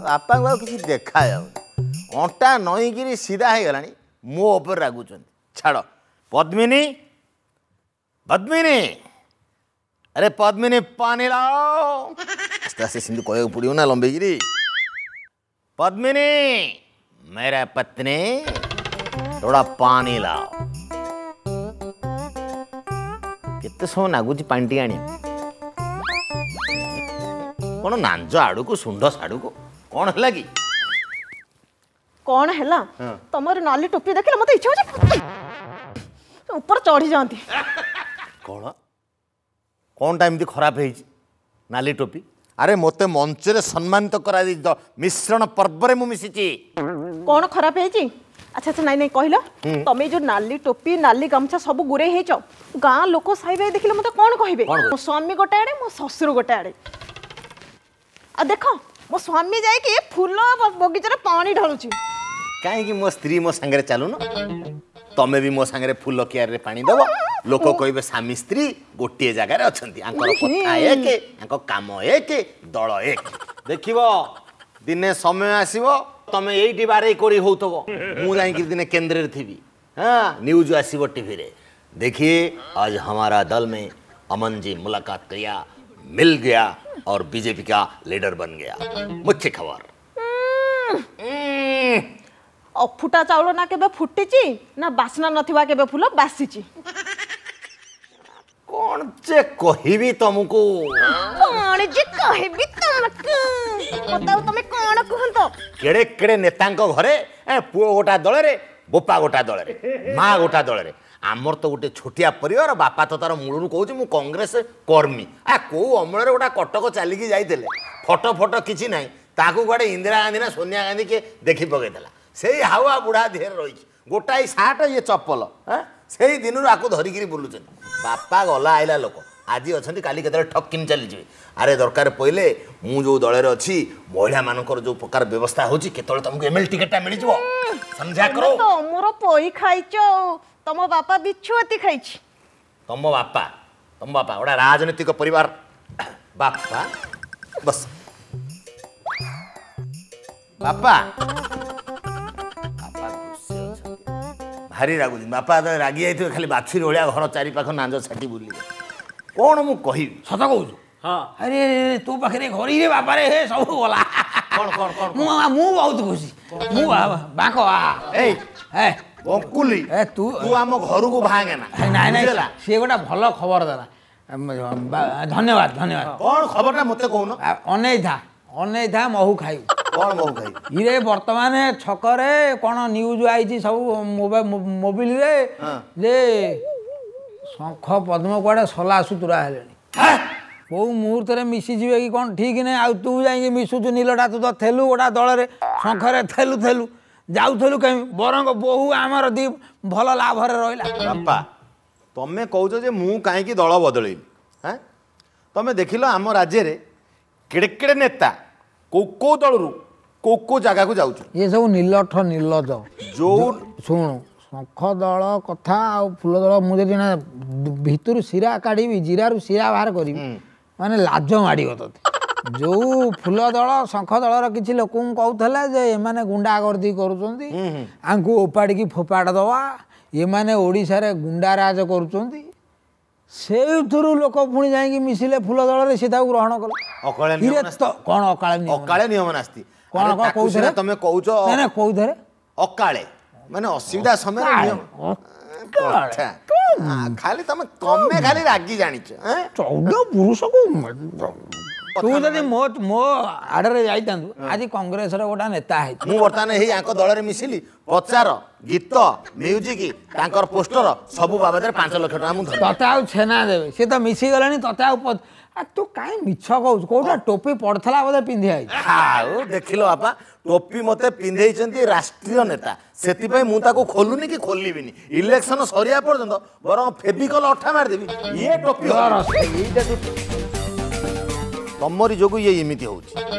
ବାପାଙ୍କୁ ଆଉ କିଛି ଦେଖାଯାଉନି, ଅଣ୍ଟା ନଇଁକିରି ସିଧା ହେଇଗଲାଣି, ମୋ ଉପରେ ରାଗୁଛନ୍ତି। ଛାଡ଼। ପଦ୍ମିନୀ, ପଦ୍ମିନୀ, ଆରେ ପଦ୍ମିନୀ, ପାଣି ଲାଓ। ଆସ୍ତେ ଆସ୍ତେ ସେମିତି କହିବାକୁ ପଡ଼ିବ ନା ଲମ୍ବେଇକିରି। ପଦ୍ମିନୀ, मेरा पत्नी, थोड़ा पानी लाओ। କେତେ ସମୟ ନାଗୁଛି ପାଣି ଟିକେ ଆଣିବା? କ'ଣ ନାଞ୍ଜ ଆଡ଼କୁ ଶୁଣ୍ଢ ସାଡ଼କୁ, କ'ଣ ହେଲା କି? କ'ଣ ହେଲା? ତମର ନାଲି ଟୋପି ଦେଖିଲେ ମତେ ଇଚ୍ଛା ହଉଛି ଉପରେ ଚଢି ଯାଆନ୍ତି। କ'ଣ କ'ଣଟା ଏମିତି ଖରାପ ହେଇଛି ନାଲି ଟୋପି? ଆରେ ମୋତେ ମଞ୍ଚରେ ସମ୍ମାନିତ କରାଯାଇଛି, ମିଶ୍ରଣ ପର୍ବରେ ମୁଁ ମିଶିଛି। କ'ଣ ଖରାପ ହେଇଛି? ଆଚ୍ଛା ଆଚ୍ଛା, ନାଇଁ ନାଇଁ, କହିଲ। ତମେ ଯୋଉ ନାଲି ଟୋପି, ନାଲି ଗାମୁଛା ସବୁ ଗୁରେଇ ହେଇଛ, ଗାଁ ଲୋକ ସାଇ ଭାଇ ଦେଖିଲେ ମତେ କ'ଣ କହିବେ? ମୋ ସ୍ୱାମୀ ଗୋଟେ ଆଡ଼େ, ମୋ ଶ୍ୱଶୁର ଗୋଟେ ଆଡ଼େ। ଆଉ ଦେଖ, ମୋ ସ୍ୱାମୀ ଯାଇକି ଫୁଲ ବଗିଚାରେ ପାଣି ଢାଳୁଛି। କାହିଁକି ମୋ ସ୍ତ୍ରୀ ମୋ ସାଙ୍ଗରେ ଚାଲୁନ, ତମେ ବି ମୋ ସାଙ୍ଗରେ ଫୁଲ କିଆରରେ ପାଣି ଦେବ। ଲୋକ କହିବେ ସ୍ୱାମୀ ସ୍ତ୍ରୀ ଗୋଟିଏ ଜାଗାରେ ଅଛନ୍ତି, ଆଙ୍କର କଥା ଏକ, ଆଙ୍କ କାମ ଏକ, ଦଳ ଏକ। ଦେଖିବ ଦିନେ ସମୟ ଆସିବ, ତମେ ଏଇଠି ବାରେଇ କରି ହଉଥିବ, ମୁଁ ଯାଇକି ଦିନେ କେନ୍ଦ୍ରରେ ଥିବି। ହଁ, ନ୍ୟୁଜ୍ ଆସିବ ଟିଭିରେ, देखिए आज हमारा दल में अमन जी मुलाकात किया, मिल गया और बीजेपी का लीडर बन गया, मुख्य खबर। ଅଫୁଟା ଚାଉଳ ନା କେବେ ଫୁଟିଛି, ନା ବାସ୍ନା ନଥିବା କେବେ ଫୁଲ ବାସିଛି। କ'ଣ ଯେ କହିବି ତମକୁ, କ'ଣ ଯେ କହିବି ତମକୁ, ମତେ ଆଉ ତମେ କ'ଣ କୁହନ୍ତ? କେଡ଼େ କେଡ଼େ ନେତାଙ୍କ ଘରେ ପୁଅ ଗୋଟା ଦଳରେ, ବୋପା ଗୋଟା ଦଳରେ, ମା ଗୋଟା ଦଳରେ। ଆମର ତ ଗୋଟେ ଛୋଟିଆ ପରିବାର। ବାପା ତ ତାର ମୂଳରୁ କହୁଛି ମୁଁ କଂଗ୍ରେସ କର୍ମୀ। ଆ କୋଉ ଅମଳରେ ଗୋଟା କଟକ ଚାଲିକି ଯାଇଥିଲେ, ଫଟୋ ଫଟୋ କିଛି ନାହିଁ, ତାକୁ କୁଆଡ଼େ ଇନ୍ଦିରା ଗାନ୍ଧୀ ନା ସୋନିଆ ଗାନ୍ଧୀ କିଏ ଦେଖି ପକେଇଦେଲା। ସେଇ ହାୱା ବୁଢ଼ା ଦେହରେ ରହିଛି, ଗୋଟାଏ ସାର୍ଟ, ଇଏ ଚପଲ, ସେଇ ଦିନରୁ ଆକୁ ଧରିକିରି ବୁଲୁଛନ୍ତି। ବାପା ଗଲା ଆଇଲା ଲୋକ, ଆଜି ଅଛନ୍ତି କାଲି କେତେବେଳେ ଠକିନି ଚାଲିଯିବେ। ଆରେ ଦରକାର ପଡ଼ିଲେ ମୁଁ ଯେଉଁ ଦଳରେ ଅଛି, ମହିଳାମାନଙ୍କର ଯେଉଁ ପ୍ରକାର ବ୍ୟବସ୍ଥା ହେଉଛି, କେତେବେଳେ ତମକୁ ଏମଏଲଏ ଟିକେଟଟା ମିଳିଯିବ। ସମଝା କର। ତମର ପଇ ଖାଇଛ, ତମ ବାପା ବିଛୁଆତି ଖାଇଛି। ତମ ବାପା, ତମ ବାପା ଗୋଟେ ରାଜନୈତିକ ପରିବାର। ବାପା ବସ, ବାପା ବାପା ଖୁସି ଅଛନ୍ତି, ଭାରି ରାଗୁଛନ୍ତି। ବାପା ରାଗି ଯାଇଥିବେ, ଖାଲି ବାଛୁରୀ ଭଳିଆ ଘର ଚାରିପାଖ ନାଞ୍ଜ ଛାଟି ବୁଲିବେ। କ'ଣ ମୁଁ କହିବି? ସତ କହୁଛୁ? ହଁ। ଆରେ ତୋ ପାଖରେ ଘରିରେ ବାପାରେ, ହେ ସବୁ ଗଲା। କ'ଣ କ'ଣ କ'ଣ? ମୁଁ ବହୁତ ଖୁସି। ମୁଁ ବାଙ୍କ ଏଇ ଏ ବଙ୍କୁଲି, ଏ ତୁ ତୁ ଆମ ଘରକୁ ଭାଙ୍ଗେ ନା। ନାଇଁ ନାଇଁ, ସିଏ ଗୋଟେ ଭଲ ଖବର ଦେଲା। ଧନ୍ୟବାଦ, ଧନ୍ୟବାଦ। କ'ଣ ଖବରଟା ମୋତେ କହୁନ? ଅନେଇଥା, ଅନେଇଥା, ମହୁ ଖାଇବୁ। କ'ଣ ମହୁ ଖାଇବୁ? ଇରେ ବର୍ତ୍ତମାନ ଛକରେ କ'ଣ ନ୍ୟୁଜ୍ ଆଇଛି ସବୁ ମୋବିଲରେ ଯେ ଶଙ୍ଖ ପଦ୍ମ କୁଆଡ଼େ ସଲା ସୁତୁରା ହେଲେଣି, କେଉଁ ମୁହୂର୍ତ୍ତରେ ମିଶିଯିବେ କି କ'ଣ ଠିକ୍ ନାହିଁ। ଆଉ ତୁ ଯାଇକି ମିଶୁଛୁ ନୀଲଟା, ତୁ ତ ଥେଲୁ ଗୋଟା ଦଳରେ, ଶଙ୍ଖରେ ଥେଲୁ ଥେଲୁ ଯାଉଥିଲୁ କାହିଁ? ବରଂ ବୋହୁ ଆମର ଦି ଭଲ ଲାଭରେ ରହିଲା। ବାପା, ତମେ କହୁଛ ଯେ ମୁଁ କାହିଁକି ଦଳ ବଦଳେଇଲି? ହାଁ, ତମେ ଦେଖିଲ ଆମ ରାଜ୍ୟରେ କେଡ଼େ କେଡ଼େ ନେତା କୋଉ କୋଉ ଦଳରୁ କୋଉ କୋଉ ଜାଗାକୁ ଯାଉଛୁ। ଇଏ ସବୁ ନିଲଠ ନିର୍ଲଜ। ଯୋଉ ଶୁଣୁ, ଶଙ୍ଖ ଦଳ କଥା ଆଉ ଫୁଲ ଦଳ, ମୁଁ ଯଦି ନା ଭିତରୁ ଶିରା କାଢ଼ିବି, ଜିରାରୁ ଶିରା ବାହାର କରିବି, ମାନେ ଲାଜ ମାଡ଼ିବ ତତେ। ଯୋଉ ଫୁଲ ଦଳ ଶଙ୍ଖ ଦଳର କିଛି ଲୋକଙ୍କୁ କହୁଥିଲେ ଯେ ଏମାନେ ଗୁଣ୍ଡାଗର୍ଦି କରୁଛନ୍ତି, ଆଙ୍କୁ ଓପାଡ଼ିକି ଫୋପାଡ଼ି ଦେବା, ଏମାନେ ଓଡ଼ିଶାରେ ଗୁଣ୍ଡାରାଜ କରୁଛନ୍ତି, ସେଇଥିରୁ ଲୋକ ପୁଣି ଯାଇକି ମିଶିଲେ ଫୁଲ ଦଳରେ, ସେ ତାକୁ ଗ୍ରହଣ କଲେ। କ'ଣ ଅକାଳେ? ଅକାଳେ ନିୟମ ନାସ୍ତି। କ'ଣ କ'ଣ କୋଉଥିରେ ତମେ କହୁଛ? ନା କୋଉଥିରେ ଅକାଳେ? ମାନେ ଅସୁବିଧା ସମୟରେ ଖାଲି ତମେ ତମେ ଖାଲି ରାଗି ଜାଣିଛ। 14 ପୁରୁଷକୁ ତୁ ଯଦି ମୋ ମୋ ଆଡ଼ରେ ଯାଇଥାନ୍ତୁ, ଆଜି କଂଗ୍ରେସର ଗୋଟେ ନେତା ହେଇଛି। ମୁଁ ବର୍ତ୍ତମାନ ହେଇ ଆଙ୍କ ଦଳରେ ମିଶିଲି, ପ୍ରଚାର, ଗୀତ, ମ୍ୟୁଜିକ, ତାଙ୍କର ପୋଷ୍ଟର ସବୁ ବାବଦରେ 5 ଲକ୍ଷ ଟଙ୍କା ମୁଁ ତତେ ଆଉ ଛେନା ଦେବେ। ସେ ତ ମିଶିଗଲାଣି ତତେ ଆଉ। ତୁ କାହିଁ ମିଛ କହୁଛୁ? କୋଉଟା ଟୋପି ପଡ଼ିଥିଲା ବୋଧେ ପିନ୍ଧି ଆଇଛୁ। ଆଉ ଦେଖିଲ ବାପା, ଟୋପି ମତେ ପିନ୍ଧେଇଛନ୍ତି ରାଷ୍ଟ୍ରୀୟ ନେତା, ସେଥିପାଇଁ ମୁଁ ତାକୁ ଖୋଲୁନି କି ଖୋଲିବିନି ଇଲେକ୍ସନ ସରିବା ପର୍ଯ୍ୟନ୍ତ। ବରଂ ଫେବିକଲ ଅଠା ମାରିଦେବି ଇଏ ଟୋପି। ଏଇଟା ତମରି ଯୋଗୁଁ ଇଏ ଏମିତି ହଉଛି।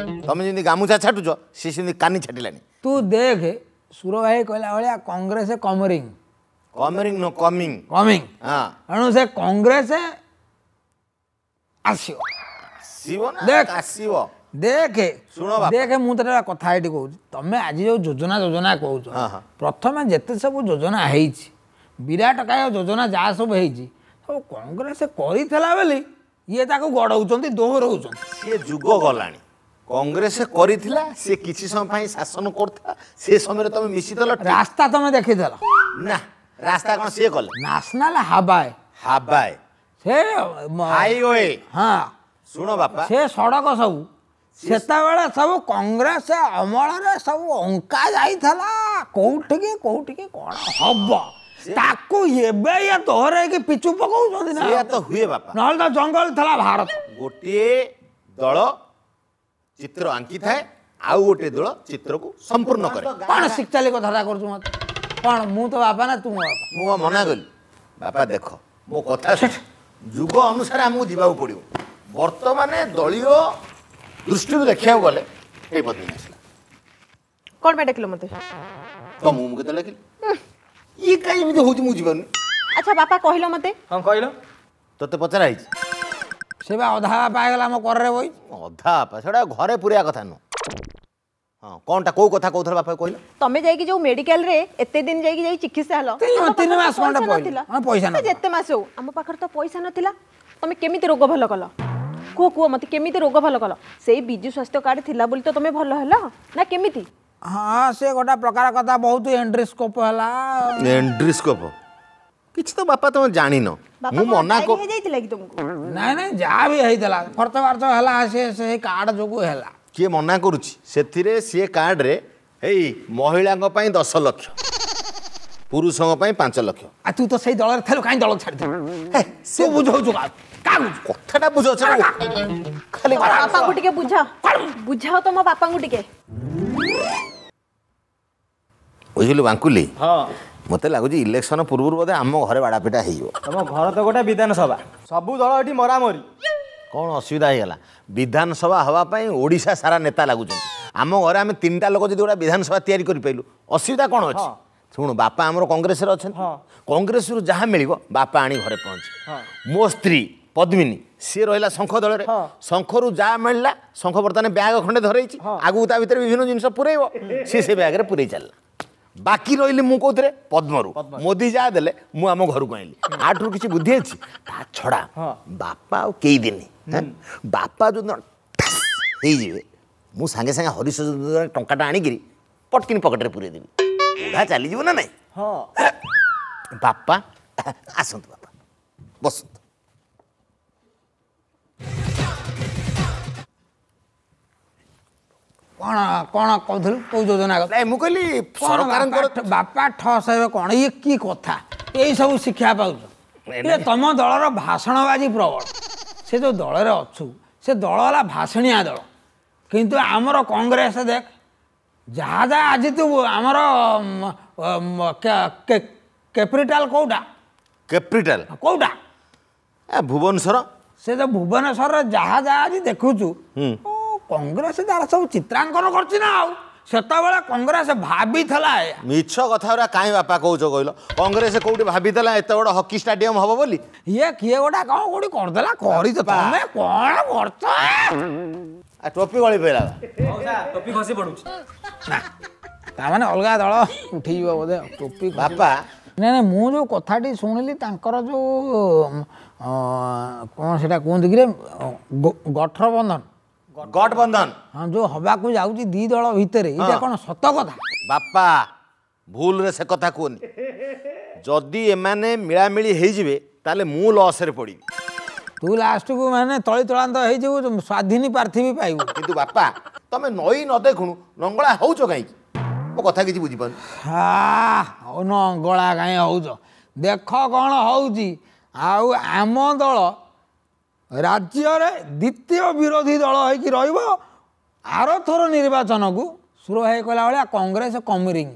ତମେ ଯେମିତି ଗାମୁଛା ଛାଟୁଛ, ସେ ସେମିତି କାନି ଛାଟିଲାଣି। ତୁ ଦେଖେ, ସୁର ଭାଇ କହିଲା ଭଳିଆ Congress coming. Coming no coming coming. ହଁ। ତେଣୁ ସେ କଂଗ୍ରେସ ଆସିବ। ଆସିବ ନା? ଦେଖ। ଆସିବ। ଦେଖେ। ଶୁଣ ବାପା। ଦେଖେ, ମୁଁ ତତେ ଗୋଟେ କଥା ଏଇଠି କହୁଛି। ତମେ ଆଜି ଯୋଉ ଯୋଜନା ଯୋଜନା କହୁଛ, ହଁ, ହଁ। ପ୍ରଥମେ ଯେତେ ସବୁ ଯୋଜନା ହେଇଛି, ବିରାଟ କାୟ ଯୋଜନା ଯାହା ସବୁ ହେଇଛି, ସବୁ କଂଗ୍ରେସ କରିଥିଲା ବୋଲି ଇଏ ତାକୁ ଗଡ଼ଉଛନ୍ତି, ଦୋହରଉଛନ୍ତି। ସିଏ ଯୁଗ ଗଲାଣି। କଂଗ୍ରେସ କରିଥିଲା, ସିଏ କିଛି ସମୟ ପାଇଁ ଶାସନ କରୁଥିଲା, ସେ ସମୟରେ ତମେ ମିଶିଥିଲ, ଠିକ। ରାସ୍ତା ତମେ ଦେଖିଥିଲ? ନା, ରାସ୍ତା କଣ ସିଏ କଲେ? ନ୍ୟାସନାଲ ହାବାଏ। ହାବାଏ। ସେ ହାଇୱେ। ହଁ। ଶୁଣ ବାପା, ସେ ସଡ଼କ ସବୁ ସେତେବେଳେ ସବୁ କଂଗ୍ରେସ ଅମଳରେ ସବୁ ଅଙ୍କା ଯାଇଥିଲା, କୋଉଠିକି କୋଉଠିକି କଣ ହବ। ତାକୁ ଏବେ ଇଏ ଦୋହରେଇକି ପିଚୁ ପକଉଛନ୍ତି ନା? ସେଇଆ ତ ହୁଏ ବାପା। ନହେଲେ ତ ଜଙ୍ଗଲ ଥିଲା ଭାରତ। ଗୋଟିଏ ଦଳ ଚିତ୍ର ଆଙ୍କିଥାଏ, ଆଉ ଗୋଟିଏ ଦଳ ଚିତ୍ରକୁ ସମ୍ପୂର୍ଣ୍ଣ କରେ। କଣ ଶିଖଚାଲି କଥାଟା କରୁଛୁ ମତେ? କଣ ମୁଁ ତ ବାପା ନା ତୁ ମୋ ବାପା? ମୁଁ କଣ ମନା କଲି ବାପା? ଦେଖ, ମୋ କଥା ଶୁଣ। ଯୁଗ ଅନୁସାରେ ଆମକୁ ଯିବାକୁ ପଡ଼ିବ। ବର୍ତ୍ତମାନ ଦଳୀୟ ଦୃଷ୍ଟିରୁ ଦେଖିବାକୁ ଗଲେ ଏଇ ପଦ୍ମିନୀ ଆସିଲା। କ'ଣ ପାଇଁ ଡାକିଲ ମତେ? ତମକୁ ମୁଁ କେତେବେଳେ ଡାକିଲି? ଇଏ କାହିଁ ଏମିତି ହଉଛି, ମୁଁ ବୁଝିପାରୁନି। ଆଚ୍ଛା ବାପା, କହିଲ ମତେ। ହଁ, କହିଲ। ତୋତେ ପଚରା ହେଇଛି? ସେ ବା ଅଧା ବାପା ହେଇଗଲା, ଆମ କରରେ ବଇ। ଅଧା ବାପା ସେଟା ଘରେ ପୁରେଇବା କଥା ନୁହଁ। ହଁ, କଣଟା କୋଉ କଥା କହୁଥିଲ ବାପା, କହିଲ? ତମେ ଯାଇକି ଯୋଉ ମେଡିକାଲରେ ଏତେ ଦିନ ଯାଇକି ଯାଇ ଚିକିତ୍ସା ହେଲ, ଆମ ପାଖରେ ତିନି ତ ମାସ ଖଣ୍ଡେ ପଇସା ପଇଲା। ନଥିଲା। ହଁ, ପଇସା ସେ ନଥିଲା। ଯେତେ ମାସ ହଉ, ଆମ ପାଖରେ ତ ପଇସା ନଥିଲା। ତମେ କେମିତି ରୋଗ ଭଲ କଲ? କୁହ କୁହ ମତେ, କେମିତି ରୋଗ ଭଲ କଲ? ସେଇ ବିଜୁ ସ୍ୱାସ୍ଥ୍ୟ କାର୍ଡ ଥିଲା ବୋଲି ତ ତମେ ଭଲ ହେଲ ନା କେମିତି? ହଁ, ସେ ଗୋଟେ ପ୍ରକାର କଥା, ବହୁତ ଏଣ୍ଡ୍ରିସ୍କୋପ ହେଲା। ଏଣ୍ଡ୍ରିସ୍କୋପ କିଛି ତ ବାପା ତମେ ଜାଣିନ। ବାପା, ମୁଁ କଣ ମନା ଡାଇରିଆ ହେଇଯାଇଥିଲା କି ତମକୁ? ନାଇଁ ନାଇଁ, ଯାହା ବି ହେଇଥିଲା, ଖର୍ଚ୍ଚ ବାର୍ଚ୍ଚ ହେଲା, ସେ ସେଇ କାର୍ଡ ଯୋଗୁ ହେଲା। କିଏ ମନା କରୁଛି? ସେଥିରେ ସିଏ କାର୍ଡରେ ଏଇ ମହିଳାଙ୍କ ପାଇଁ 10 ଲକ୍ଷ, ପୁରୁଷଙ୍କ ପାଇଁ 5 ଲକ୍ଷ। ଆଉ ତୁ ତ ସେଇ ଦଳରେ ଥିଲୁ, କାହିଁ ଦଳ ଛାଡ଼ିଥିଲୁ? ତୁ ବୁଝଉଛୁ କାହାକୁ କାହାକୁ? କଥାଟା ବୁଝାଉଛ ନା ଖାଲି? ତମ ବାପାଙ୍କୁ ଟିକେ ବୁଝାଅ, ବୁଝାଅ ତମ ବାପାଙ୍କୁ ଟିକେ। ବୁଝିଲୁ ବାଙ୍କୁଲି? ହଁ। ମୋତେ ଲାଗୁଛି ଇଲେକ୍ସନ ପୂର୍ବରୁ ବୋଧେ ଆମ ଘରେ ବାଡ଼ାପିଟା ହେଇଯିବ। ତମ ଘର ତ ଗୋଟେ ବିଧାନସଭା, ସବୁ ଦଳ ଏଠି ମରାମରି। କ'ଣ ଅସୁବିଧା ହେଇଗଲା? ବିଧାନସଭା ହେବା ପାଇଁ ଓଡ଼ିଶା ସାରା ନେତା ଲାଗୁଛନ୍ତି। ଆମ ଘରେ ଆମେ ତିନିଟା ଲୋକ ଯଦି ଗୋଟେ ବିଧାନସଭା ତିଆରି କରିପାରିଲୁ, ଅସୁବିଧା କ'ଣ ଅଛି? ଶୁଣୁ, ବାପା ଆମର କଂଗ୍ରେସରେ ଅଛନ୍ତି। କଂଗ୍ରେସରୁ ଯାହା ମିଳିବ ବାପା ଆଣି ଘରେ ପହଞ୍ଚି। ମୋ ସ୍ତ୍ରୀ ପଦ୍ମିନୀ, ସିଏ ରହିଲା ଶଙ୍ଖ ଦଳରେ। ଶଙ୍ଖରୁ ଯାହା ମିଳିଲା, ଶଙ୍ଖ ବର୍ତ୍ତମାନ ବ୍ୟାଗ ଖଣ୍ଡେ ଧରେଇଛି, ଆଗକୁ ତା ଭିତରେ ବିଭିନ୍ନ ଜିନିଷ ପୁରେଇବ, ସିଏ ସେ ବ୍ୟାଗରେ ପୁରେଇ ଚାଲିଲା। ବାକି ରହିଲି ମୁଁ କୋଉଥିରେ? ପଦ୍ମରୁ। ମୋଦି ଯାହା ଦେଲେ ମୁଁ ଆମ ଘରକୁ ଆଣିଲି। ଆଠରୁ କିଛି ବୁଦ୍ଧି ଅଛି? ତା ଛଡ଼ା ବାପା ଆଉ କେଇ ଦିନ, ବାପା ଯୋଉଦିନ ଠାସ୍ ହେଇଯିବେ, ମୁଁ ସାଙ୍ଗେ ସାଙ୍ଗେ ହରିଶ ଟଙ୍କାଟା ଆଣିକିରି ପଟକିନି ପକେଟରେ ପୁରେଇ ଦେବି। ବୁଢ଼ା ଚାଲିଯିବ ନା ନାଇଁ? ହଁ। ବାପା ଆସନ୍ତୁ, ବାପା ବସନ୍ତୁ। କ'ଣ କ'ଣ କହୁଥିଲୁ? କୋଉ ଯୋଜନା କଥା? ନାଇଁ, ମୁଁ କହିଲି କଣ? ସରକାରଙ୍କର ବାପା ଠସ୍ ହେବେ କ'ଣ? ଇଏ କି କଥା? ଏଇ ସବୁ ଶିକ୍ଷା ପାଉଛ? ଇଏ ତମ ଦଳର ଭାଷଣବାଜି ପ୍ରବଳ। ସେ ଯୋଉ ଦଳରେ ଅଛୁ, ସେ ଦଳ ହେଲା ଭାଷଣିଆ ଦଳ। କିନ୍ତୁ ଆମର କଂଗ୍ରେସ ଦେଖ, ଯାହା ଯାହା ଆଜି ତୁ ଆମର କ୍ୟାପିଟାଲ କୋଉଟା? କ୍ୟାପିଟାଲ? କୋଉଟା? ଏ ଭୁବନେଶ୍ୱର। ସେ ଯୋଉ ଭୁବନେଶ୍ୱରରେ ଯାହା ଯାହା ଆଜି ଦେଖୁଛୁ, ଓ, କଂଗ୍ରେସ ତାର ସବୁ ଚିତ୍ରାଙ୍କନ କରିଛି ନା। ଆଉ ସେତେବେଳେ କଂଗ୍ରେସ ଭାବିଥିଲା ଏଇଆ। ମିଛ କଥା ଗୁରା କାହିଁ ବାପା କହୁଛ କହିଲ? କଂଗ୍ରେସ କୋଉଠି ଭାବିଥିଲା ଏତେ ବଡ଼ ହକି ଷ୍ଟାଡିୟମ ହବ ବୋଲି? ଇଏ କିଏ ଗୋଟା କଣ କୋଉଠି କରିଦେଲା, କରିଛ ତମେ କଣ କରୁଛ? ଆ ଟୋପି ଗଳି ପଇଲା। ମଉସା, ଟୋପି ଖସି ପଡୁଛି। ନା, ତାମାନେ ଅଲଗା ଦଳ ଉଠିଯିବ ବୋଧେ ଆଉ, ଟୋପି ବାପା। ନାଇଁ ନାଇଁ, ମୁଁ ଯୋଉ କଥାଟି ଶୁଣିଲି, ତାଙ୍କର ଯୋଉ କଣ ସେଟା କୁହନ୍ତି କିରେ, ଗଠବନ୍ଧନ? ଗଠବନ୍ଧନ। ହଁ, ଯୋଉ ହବାକୁ ଯାଉଛି ଦି ଦଳ ଭିତରେ, ଏଇଟା କଣ ସତ କଥା? ବାପା, ଭୁଲରେ ସେ କଥା କୁହନି। ଯଦି ଏମାନେ ମିଳାମିଳି ହେଇଯିବେ, ତାହେଲେ ମୁଁ ଲସରେ ପଡ଼ିବି। ତୁ ଲାଷ୍ଟକୁ ମାନେ ତଳି ତଳାନ୍ତ ହେଇଯିବୁ, ସ୍ୱାଧୀନ ପ୍ରାର୍ଥୀ ବି ପାଇବୁ। କିନ୍ତୁ ବାପା, ତମେ ନଈ ନ ଦେଖୁଣୁ ନଙ୍ଗଳା ହଉଛ କାହିଁକି? ମୋ କଥା କିଛି ବୁଝିପାରୁନି। ହଉ, ନଙ୍ଗଳା କାହିଁ ହଉଛ? ଦେଖ କ'ଣ ହଉଛି। ଆଉ ଆମ ଦଳ ରାଜ୍ୟରେ ଦ୍ୱିତୀୟ ବିରୋଧୀ ଦଳ ହେଇକି ରହିବ ଆରଥର ନିର୍ବାଚନକୁ। ସୁର ଭାଇ କହିଲା ଭଳିଆ କଂଗ୍ରେସ କମିରିଂ।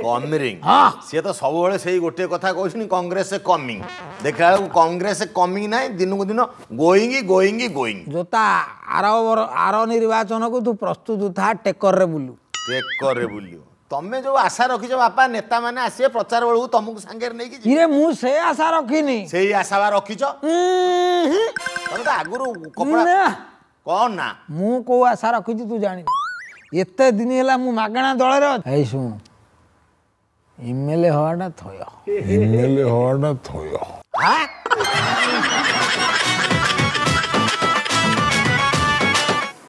କମିରିଂ। ହଁ। ସିଏ ତ ସବୁବେଳେ ସେଇ ଗୋଟିଏ କଥା କହୁଛନ୍ତି, କଂଗ୍ରେସ କମିଂ। ଦେଖିଲା ବେଳକୁ କଂଗ୍ରେସ କମିଂ ନାହିଁ, ଦିନକୁ ଦିନ ଗୋଇଙ୍ଗ ଗୋଇଙ୍ଗ ଗୋଇଙ୍ଗ। ଜୋତା, ଆର ନିର୍ବାଚନକୁ ତୁ ପ୍ରସ୍ତୁତ ଥା, ଟେକରରେ ବୁଲୁ। ଟେକରେ ବୁଲିବ। ତମେ ଯୋଉ ଆଶା ରଖିଛ ବାପା, ନେତାମାନେ ଆସିବେ ପ୍ରଚାର ବେଳକୁ ତମକୁ ସାଙ୍ଗରେ ନେଇକି ଯିବେ। ଇରେ, ମୁଁ ସେ ଆଶା ରଖିନି। ସେଇ ଆଶା ବା ରଖିଛ। ଉଁ ହୁଁ। ତମେ ତ ଆଗରୁ କପଡ଼ା ନା। କଣ ନା? ମୁଁ କୋଉ ଆଶା ରଖିଛି ତୁ ଜାଣିନୁ। ଏତେ ଦିନ ହେଲା ମୁଁ ମାଗଣା ଦଳରେ ଅଛି। ଏଇ ଶୁଣ, ଏମଏଲଏ ହବାଟା ଥୟ, ଏମଏଲଏ ହବାଟା ଥୟ। ହାଁ।